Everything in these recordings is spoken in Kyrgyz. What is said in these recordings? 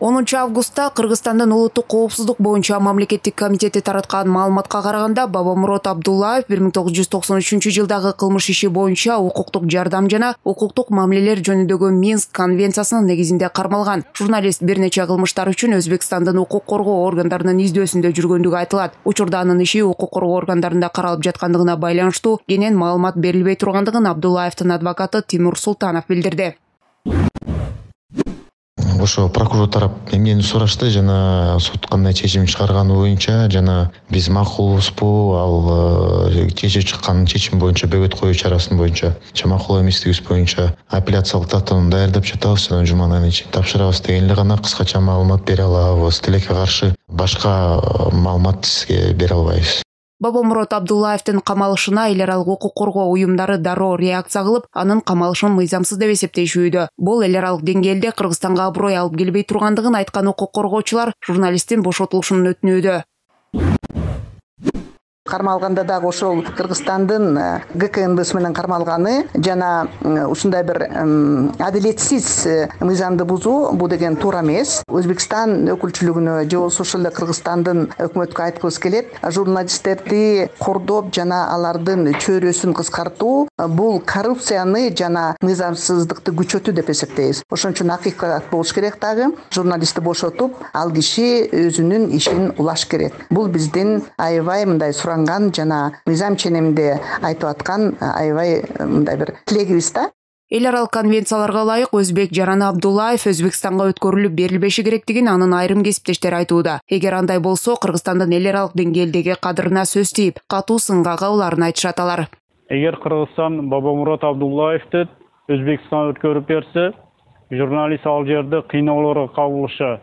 10 августта Кыргызстандын улуттук коопсуздук боюнча мамлекеттик комитети тараткан маалыматка караганда Бабамурод Абдуллаев 1993-жылдагы кылмыш иши боюнча укуктук жардам жана укуктук мамилелер жөнүндөгү Минск конвенциясынын негизинде кармалган. Журналист бир нече кылмыштар үчүн Өзбекстандын укук коргоо органдарынын издөөсүндө жүргөндүгү айтылат. Учурда анын иши укук коргоо органдарында каралып жаткандыгына байланыштуу кенен маалымат берилбей тургандыгын Абдуллаевдин адвокаты Тимур Султанов билдирди. Ошо прокурор тарап эмнени сурашты жана суд кандай чечим чыгарганы боюнча жана биз макулбузбу ал кечээ чыккан чечим боюнча бөгөт коюу чарасын боюнча макул эместигибиз боюнча апелляциялык даттанууну даярдап жатабыз жана жуманын айынан ичинде тапшырабыз деген эле гана кыскача маалымат бере алабыз. Тилекке каршы башка маалымат сизге бере албайбыз. Бабамурод Абдуллаевдин камалышына эл аралык укук коргоо уюмдары дароо реакция кылып, анын камалышын мыйзамсыз деп эсептешүүдө. Бул эл аралык деңгээлде Кыргызстанга аброй алып келбей тургандыгын айткан укук коргоочулар журналисттин бошотулушун өтүнүүдө. Кармалганда дагы ошол Кыргызстандын ГКНБсы менен кармалганы жана ушундай бир адилетсиз мыйзамды бузуу бул деген туура эмес. Өзбекстан өкүлчүлүгүнө же болбосо ошол эле Кыргызстандын өкмөткө айткыбыз келет. Журналисттерди кордоп жана алардын чөйрөсүн кыскартуу бул коррупцияны жана мыйзамсыздыкты күчөтүү деп эсептейбиз. Ошон үчүн акыйкат болуш керек дагы. Журналистти бошотуп, ал киши өзүнүн ишин улаш керек. Бул биздин аябай мындай жана мыйзам ченеминде айтып аткан аябай мындай бир тилегибиз да. Эл аралык конвенцияларга ылайык Өзбек Жараны Абдуллаев Өзбекстанга өткөрүлүп берилбеши керектигин анын айрым кесиптештери айтууда. Эгер андай болсо, Кыргызстандын эл аралык деңгээлдеги кадырына сөз тийип, катуу сынга кабыларын айтышат алар. Эгер Кыргызстан Бабамурод Абдуллаевди Өзбекстанга өткөрүп берсе, журналист ал жерде кыйноолорго кабылышы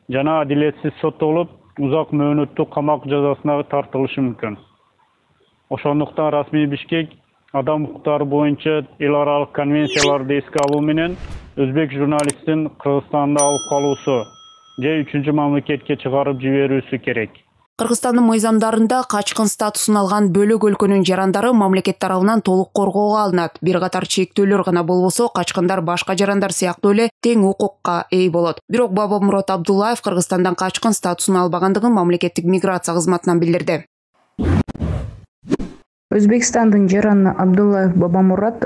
жана адилетсиз соттолуп, узак мөөнөттүү камак жазасына тартылышы мүмкүн. Ошондуктан расмий Бишкек адам укуктары боюнча эл аралык конвенцияларды эске алуу менен өзбек журналистин Кыргызстанда алып калуусу же 3-мамлекетке чыгарып жиберүүсү керек. Кыргызстандын мыйзамдарында качкын статусун алган бөлөк өлкөнүн жарандары мамлекет тарабынан толук коргоого алынат. Бир катар чектөөлөр гана болбосо, качкындар башка жарандар сыяктуу эле тең укукка ээ болот. Бирок Бабамурод Абдуллаев Кыргызстандан качкын статусун албагандыгын мамлекеттик миграция кызматынан билдирди. Өзбекстандын жараны Абдуллаев Бабамурод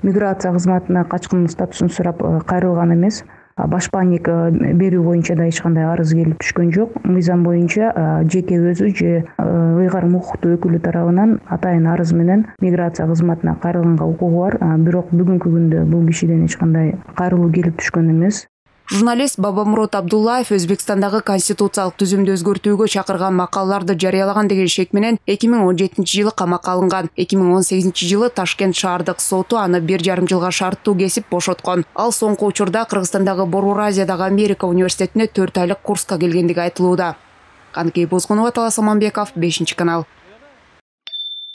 миграция кызматына качкын статусун сурап кайрылган эмес. Башпаанник берүү боюнча да эч кандай арыз келип түшкөн жок. Мыйзам боюнча жеке өзү же ыйгарым укуктуу өкүлү тарабынан атайын арыз менен миграция кызматына кайрылганга укугу бар. Бирок бүгүнкү күндө бул кишиден эч кандай кайрылуу келип түшкөн эмес. Журналист Бабамурод Абдуллаев Өзбекстандагы конституциялык түзүмдү өзгөртүүгө чакырган макалаларды жарыялаган деген шек менен 2017-жылы камакка алынган. 2018-жылы Ташкент шаардык соту аны 1,5 жылга шарттуу кесип бошоткон. Ал соңку учурда Кыргызстандагы Борбор Азиядагы Америка университетине 4 айлык курска келгендиги айтылууда. Каныкей Бозгунова, Талас Аманбеков, 5-канал.